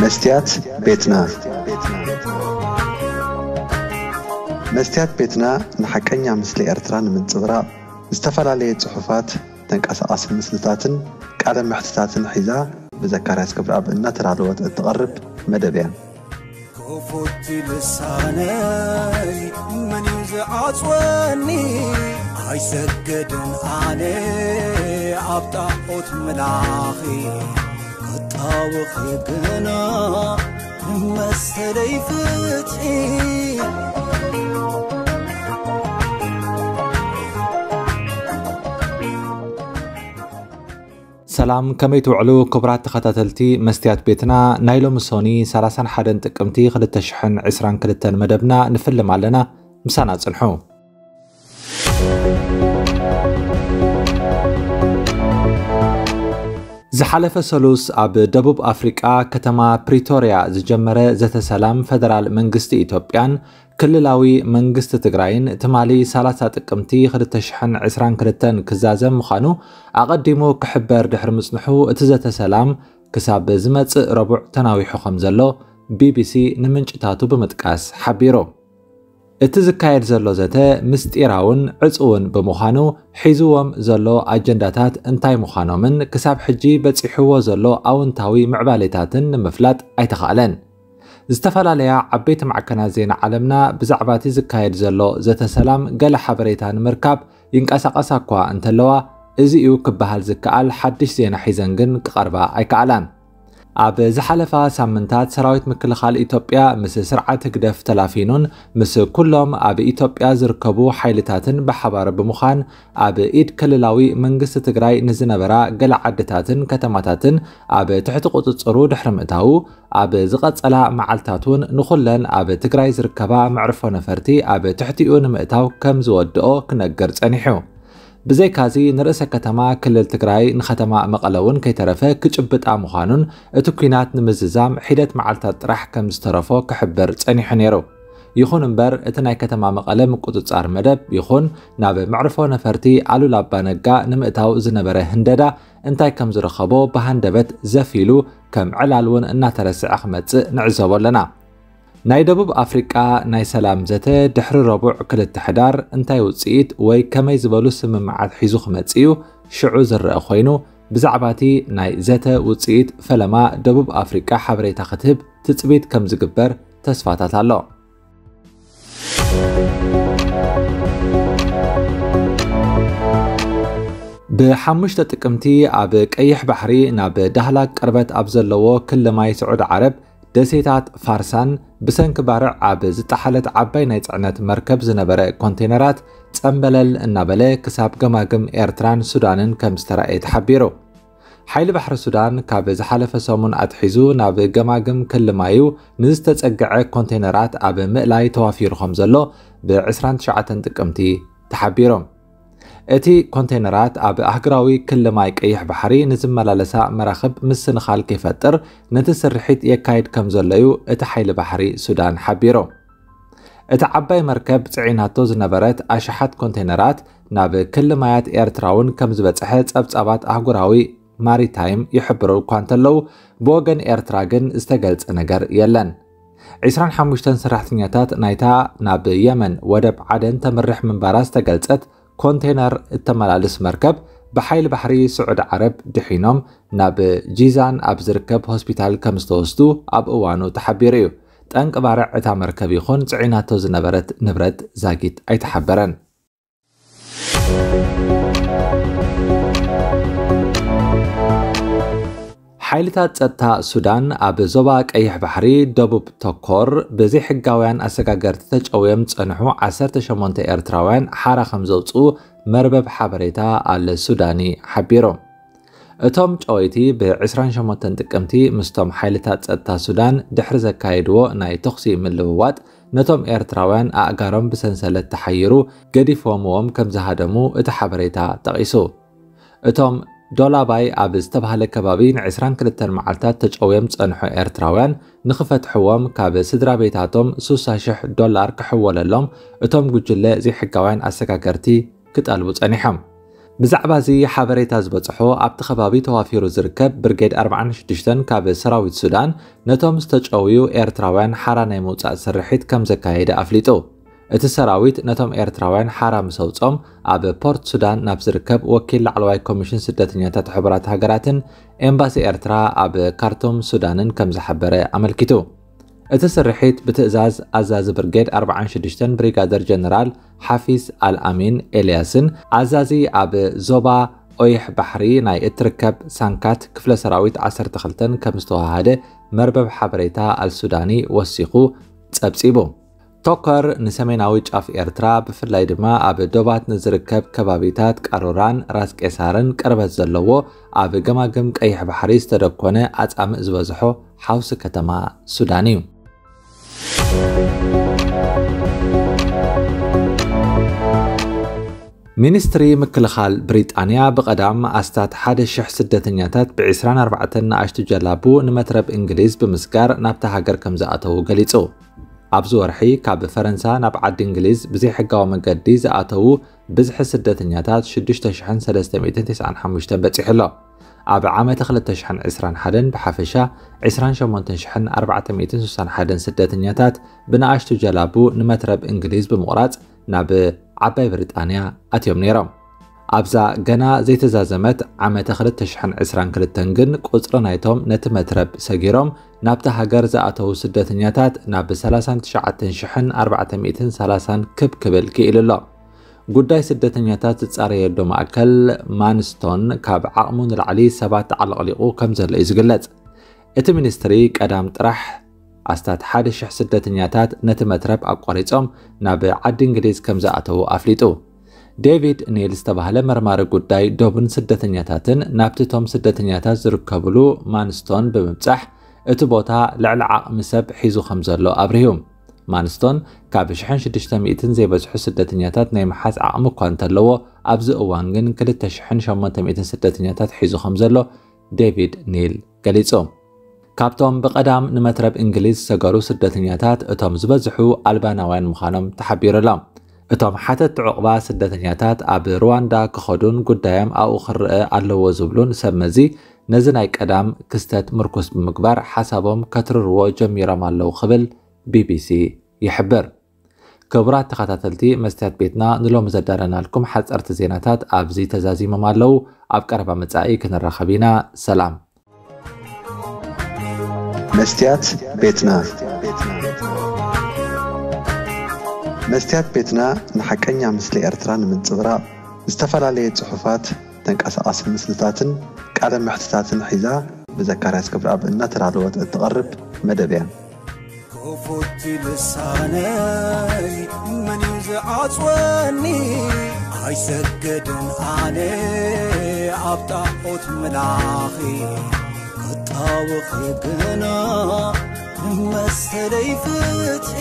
መስትያት ቤትና። መስትያት ቤትና ንሓቀኛ ምስሊ ኤርትራ ንምንጽብራቕ ዝተፈላለየ ጽሑፋት፣ ተንቀሳቓሲ ምስልታትን ቃለ መሕትታትን ሒዛ ብዘካርያስ ገብረኣብ እናተዳለወት እትቐርብ መደብ እያ። ክፉት ልሳነይ መን እዩ ዝዓጽወኒ? ኣይሰግድን ኣነ ኣብ ጣዖት ምላኺ፣ ክጣወኺ ግና መሰለይ ፍትሒ። ሰላም፣ ከመይ ትውዕሉ ክቡራት ተኸታተልቲ መስትያት ቤትና? ናይ ሎሚ ሶኒ ሰላሳን ሓደን ጥቅምቲ ክልተ ሽሕን ዕስራን ክልተን መደብና ንፍልም ኣለና። ምሳና ጽንሑ። ዝሓለፈ ሰሉስ ኣብ ደቡብ ኣፍሪቃ ከተማ ፕሪቶርያ ዝጀመረ ዘተ ሰላም ፈደራል መንግስቲ ኢትዮጵያን ክልላዊ መንግስቲ ትግራይን ትማሊ ሰላሳ ጥቅምቲ ክልተ ሽሕን ዕስራን ክልተን ክዛዘም ምዃኑ ኣቐዲሙ ክሕበር ድሕሪ ምጽንሑ፣ እቲ ዘተ ሰላም ክሳብ ዝመጽእ ረቡዕ ተናዊሑ ከም ዘሎ ቢቢሲ ንምንጭታቱ ብምጥቃስ ሓቢሩ። እቲ ዝካየድ ዘሎ ዘተ ምስጢራውን ዕጹውን ብምዃኑ፣ ሒዝዎም ዘሎ ኣጀንዳታት እንታይ ምዃኖምን ክሳብ ሕጂ በጺሕዎ ዘሎ ኣውንታዊ ምዕባሌታትን ንምፍላጥ ኣይተኻእለን። ዝተፈላለያ ዓበይቲ ማዕከናት ዜና ዓለምና ብዛዕባ እቲ ዝካየድ ዘሎ ዘተ ሰላም ገለ ሓበሬታ ንምርካብ ይንቀሳቐሳ እኳ እንተለዋ፣ እዚ እዩ ክበሃል ዝከኣል ሓድሽ ዜና ሒዘን ግን ክቐርባ ኣይከኣላን። ኣብ ዝሓለፋ ሳምንታት ሰራዊት ምክልኻል ኢትዮጵያ ምስ ስርዓት ህግደፍ ተላፊኑን ምስ ኩሎም ኣብ ኢትዮጵያ ዝርከቡ ሓይልታትን ብሓባር ብምዃን ኣብ ኢድ ክልላዊ መንግስቲ ትግራይ ንዝነበራ ገለ ዓድታትን ከተማታትን ኣብ ትሕቲ ቁጽጽሩ ድሕሪ ምእታዉ፣ ኣብ ዝቐጸላ መዓልታት እውን ንኹለን ኣብ ትግራይ ዝርከባ መዕርፎ ነፈርቲ ኣብ ትሕቲኡ ንምእታው ከም ዝወድኦ ክነግር ጸኒሑ። ብዘይካዚ ንርእሰ ከተማ ክልል ትግራይ ንከተማ መቐለ እውን ከይተረፈ ክጭብጣ ምዃኑን እቲ ኲናት ንምዝዛም ሒደት መዓልታት ጥራሕ ከም ዝተረፎ ክሕብር ጸኒሑ ነይሩ። ይኹን እምበር እቲ ናይ ከተማ መቐለ ምቁጽጻር መደብ ይኹን ናብ መዕርፎ ነፈርቲ ኣሉላ ኣባነጋ ንምእታው ዝነበረ ህንደዳ እንታይ ከም ዝረኸቦ ብሃንደበት ዘፍ ኢሉ ከም ዕላል እውን እናተረስዐ ክመጽእ ንዕዘቦ ኣለና። ናይ ደቡብ ኣፍሪቃ ናይ ሰላም ዘተ ድሕሪ ረቡዕ ክልተ ሕዳር እንታይ ውጽኢት ወይ ከመይ ዝበሉ ስምምዓት ሒዙ ክመጽእ እዩ ሽዑ ዝረአ ኮይኑ፣ ብዛዕባ እቲ ናይ ዘተ ውጽኢት ፈለማ ደቡብ ኣፍሪቃ ሓበሬታ ክትህብ ትጽቢት ከም ዝግበር ተስፋታት ኣሎ። ብሓሙሽተ ጥቅምቲ ኣብ ቀይሕ ባሕሪ ናብ ዳህላክ ቅርበት ኣብ ዘለዎ ክሊ ማይ ስዑድ ዓረብ ደሴታት ፋርሳን ብሰንኪ ባርዕ ኣብ ዝጠሓለት ዓባይ ናይ ጽዕነት መርከብ ዝነበረ ኮንቴነራት ጸምበለል እናበለ ክሳብ ገማግም ኤርትራን ሱዳንን ከም ዝተራእየ ተሓቢሩ። ሓይሊ ባሕሪ ሱዳን ካብ ዝሓለፈ ሰሙን ኣትሒዙ ናብ ገማግም ክሊ ማዩ ንዝተጸግዐ ኮንቴነራት ኣብ ምእላይ ተዋፊሩ ከም ዘሎ ብ ዕስራን ትሽዓተን ጥቅምቲ ተሓቢሩ። እቲ ኮንቴነራት ኣብ ኣህጉራዊ ክሊ ማይ ቀይሕ ባሕሪ ንዝመላለሳ መራኽብ ምስንኻል ከይፈጥር ነቲ ስርሒት የካይድ ከም ዘሎ እዩ እቲ ሓይሊ ባሕሪ ሱዳን ሓቢሩ። እታ ዓባይ መርከብ ጽዒናቶ ዝነበረት ኣሽሓት ኮንቴነራት ናብ ክሊ ማያት ኤርትራ እውን ከም ዝበጽሐ ጸብጻባት ኣህጉራዊ ማሪታይም ይሕብሩ እኳ እንተለዉ፣ ብወገን ኤርትራ ግን ዝተገልጸ ነገር የለን። ዕስራን ሓሙሽተን ሰራሕተኛታት ናይታ ናብ የመን ወደብ ዓደን ተምርሕ ምንባራ ዝተገልጸት ኮንቴነር እተመላልስ መርከብ ብሓይሊ ባሕሪ ስዑዲ ዓረብ ድሒኖም ናብ ጂዛን ኣብ ዝርከብ ሆስፒታል ከም ዝተወስዱ ኣብ እዋኑ ተሓቢሩ እዩ። ጠንቂ ባርዕ እታ መርከብ ይኹን ጽዒናቶ ዝነበረት ንብረት ዛጊት ኣይተሓበረን። ሓይልታት ጸጥታ ሱዳን ኣብ ዞባ ቀይሕ ባሕሪ ደቡብ ተኮር ብዘይሕጋውያን ኣሰጋገርቲ ተጨውዮም ዝጸንሑ ዓሰርተ ሸሞንተ ኤርትራውያን ሓራ ከም ዘውጽኡ መርበብ ሓበሬታ ኣል ሱዳኒ ሓቢሩ። እቶም ጨወይቲ ብ ዕስራን ሸሞንተን ጥቅምቲ ምስቶም ሓይልታት ጸጥታ ሱዳን ድሕሪ ዘካየድዎ ናይ ተኹሲ ምልውዋጥ፣ ነቶም ኤርትራውያን ኣእጋሮም ብሰንሰለት ተሓይሩ ገዲፎምዎም ከም ዝሃደሙ እቲ ሓበሬታ ጠቒሱ። እቶም ዶላባይ ኣብ ዝተባህለ ከባቢ ንዕስራን ክልተን መዓልታት ተጨውዮም ዝጸንሑ ኤርትራውያን ንኽፈትሕዎም ካብ ስድራ ቤታቶም ሱሳ ሽሕ ዶላር ክሕወለሎም እቶም ጉጅለ ዘይሕጋውያን ኣሰጋገርቲ ክጠልቡ ጸኒሖም። ብዛዕባ እዚ ሓበሬታ ዝበጽሖ ኣብቲ ከባቢ ተዋፊሩ ዝርከብ ብርጌድ ኣርባዓን ሽዱሽተን ካብ ሰራዊት ሱዳን ነቶም ዝተጨውዩ ኤርትራውያን ሓራ ናይ ምውጻእ ስርሒት ከም ዘካየደ ኣፍሊጡ። እቲ ሰራዊት ነቶም ኤርትራውያን ሓራ ምስ ኣውጾም ኣብ ፖርት ሱዳን ናብ ዝርከብ ወኪል ላዕለዋይ ኮሚሽን ስደተኛታት ሕቡራት ሃገራትን ኤምባሲ ኤርትራ ኣብ ካርቱም ሱዳንን ከም ዝሓበረ ኣመልኪቱ። እቲ ስርሒት ብትእዛዝ ኣዛዚ ብርጌድ ኣርባዓን ሽዱሽተን ብሪጋደር ጀነራል ሓፊዝ ኣልኣሚን ኤልያስን ኣዛዚ ኣብ ዞባ ኦይሕ ባሕሪ ናይ እትርከብ ሳንካት ክፍለ ሰራዊት ዓሰርተ ክልተን ከም ዝተዋሃደ መርበብ ሓበሬታ ኣልሱዳኒ ወሲኹ ጸብጺቡ። ቶከር ንሰሜናዊ ጫፍ ኤርትራ ብፍላይ ድማ ኣብ ዶባት ንዝርከብ ከባቢታት ቃሮራን ራስ ቄሳርን ቅርበት ዘለዎ ኣብ ገማግም ቀይሕ ባሕሪ ዝተደኮነ ኣጻምእ ዝበዝሖ ሓውሲ ከተማ ሱዳን እዩ። ሚኒስትሪ ምክልኻል ብሪጣንያ ብቐዳም ኣስታት ሓደ ሽሕ ስደተኛታት ብ ዕስራን ኣርባዕተን ንኣሽቱ ጀላቡ ንመትረብ እንግሊዝ ብምስጋር ናብታ ሃገር ከም ዝኣተዉ ገሊጹ። ኣብዚ ወርሒ ካብ ፈረንሳ ናብ ዓዲ እንግሊዝ ብዘይሕጋዊ መገዲ ዝኣተዉ ብዝሒ ስደተኛታት ሽዱሽተ ሽሕን ሰለስተ ሚእትን ተስዓን ሓሙሽተን በጺሑ ኣሎ። ኣብ ዓመተ ክልተ ሽሕን ዕስራን ሓደን ብሓፈሻ ዕስራን ሸሞንተን ሽሕን ኣርባዕተ ሚእትን ስሳን ሓደን ስደተኛታት ብንኣሽቱ ጀላቡ ንመትረብ እንግሊዝ ብምቑራጽ ናብ ዓባይ ብሪጣንያ ኣትዮም ነይሮም። ኣብዛ ገና ዘይተዛዘመት ዓመተ ክልተ ሽሕን ዕስራን ክልተን ግን ቁጽሪ ናይቶም ነቲ መትረብ ሰጊሮም ናብታ ሃገር ዝኣተዉ ስደተኛታት ናብ ሰላሳን ትሽዓተን ሽሕን ኣርባዕተ ሚእትን ሰላሳን ክብ ክብል ክኢሉ ኣሎ። ጉዳይ ስደተኛታት ዝጻረየሉ ማእከል ማንስቶን ካብ ዓቕሙ ንላዕሊ ሰባት ተዓለቕሊቑ ከም ዘሎ እዩ ዝግለጽ። እቲ ሚኒስትሪ ቀዳም ጥራሕ ኣስታት ሓደ ሽሕ ስደተኛታት ነቲ መትረብ ኣቋሪጾም ናብ ዓዲ እንግሊዝ ከም ዝኣተዉ ኣፍሊጡ። ዴቪድ ኒል ዝተባህለ መርማሪ ጉዳይ ዶብን ስደተኛታትን ናብቲ እቶም ስደተኛታት ዝርከብሉ ማንስቶን ብምብጻሕ እቲ ቦታ ልዕሊ ዓቕሚ ሰብ ሒዙ ከም ዘሎ ኣብሪሁ። ማንስቶን ካብ ሽሕን ሽዱሽተ ሚእትን ዘይበዝሑ ስደተኛታት ናይ ምሓዝ ዓቕሚ እኳ እንተለዎ ኣብዚ እዋን ግን ክልተ ሽሕን ሸሞንተ ሚእትን ስደተኛታት ሒዙ ከም ዘሎ ዴቪድ ኒል ገሊጹ። ካብቶም ብቐዳም ንመትረብ እንግሊዝ ዝሰገሩ ስደተኛታት እቶም ዝበዝሑ ኣልባናውያን ምዃኖም ተሓቢሩ ኣሎ። እቶም ሓተቲ ዑቕባ ስደተኛታት ኣብ ሩዋንዳ ክኸዱን ጉዳዮም ኣብኡ ክረአ ኣለዎ ዝብሉን ሰብ መዚ ነዚ ናይ ቀዳም ክስተት ምርኩስ ብምግባር ሓሳቦም ከትርርዎ ጀሚሮም ኣለዉ ክብል ቢቢሲ ይሕብር። ክቡራት ተኸታተልቲ መስትያት ቤትና ንሎሚ ዘዳለናልኩም ሓፀርቲ ዜናታት ኣብዚ ተዛዚሞም ኣለዉ። ኣብ ቀረባ መጻኢ ክንራኸብ ኢና። ሰላም። መስትያት ቤትና። መስትያት ቤትና ንሓቀኛ ምስሊ ኤርትራ ንምንጽብራቕ ዝተፈላለየ ጽሑፋት፣ ተንቀሳቓሲ ምስልታትን ቃለ መሕትታትን ሒዛ ብዘካርያስ ክብረኣብ እናተዳለወት እትቐርብ መደብ እያ። ክፉት ልሳነይ መን እዩ ዝዓጽወኒ? ኣይሰግድን ኣነ ኣብ ጣዖት ምላኺ፣ ክጣወኺ ግና ንመሰለይ ፍትሒ።